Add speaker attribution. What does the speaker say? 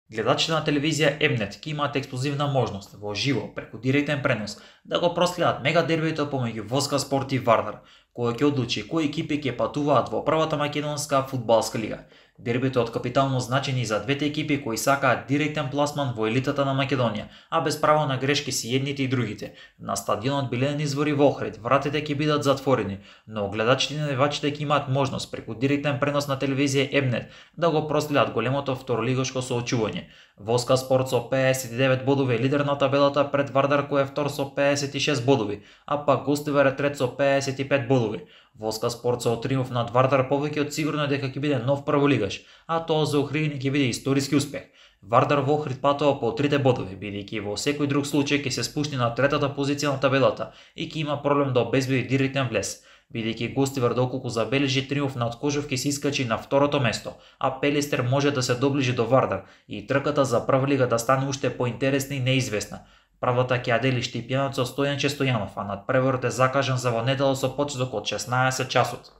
Speaker 1: Гледачите на телевизија М-нет ќе имаат ексклузивна можност во живо преку директен пренос да го проследат мега дербито помеѓу Воска Спорт и Вардар, кој ќе одлучи кои екипи ќе патуваат во првата македонска фудбалска лига. Дербито е од капитално значење за двете екипи кои сакаат директен пласман во елитата на Македонија, а без право на грешки си едните и другите. На стадионот Билен извори во Охрид вратите ќе бидат затворени, но гледачите и навивачите ќе имаат можност преку директен пренос на телевизија М-нет да го проследат големото второлигашко соочување. Воска Спорт со 59 бодови е лидер на табелата пред Вардар кој е втор со 56 бодови, а пак Гостивар е трет со 55 бодови. Воска Спорт со триумф над Вардар повеќе од сигурно дека ќе биде нов прволигаш, а тоа за Охридини ќе биде историски успех. Вардар во Охрид патува по 3 бодови, бидејќи во секој друг случај ќе се спушти на третата позиција на табелата и ќе има проблем да обезбеди директен влез. Бидејќи Гостивар доколку забележи триумф над Кожов ќе се искачи на второто место, а Пелистер може да се доближи до Вардар и трката за прва лига да стане уште поинтересна и неизвестна. Правата ќе ја дели Штипјанот со Стојанче Стојанов, а надпреварот е закажан за во недела со почеток од 16 часот.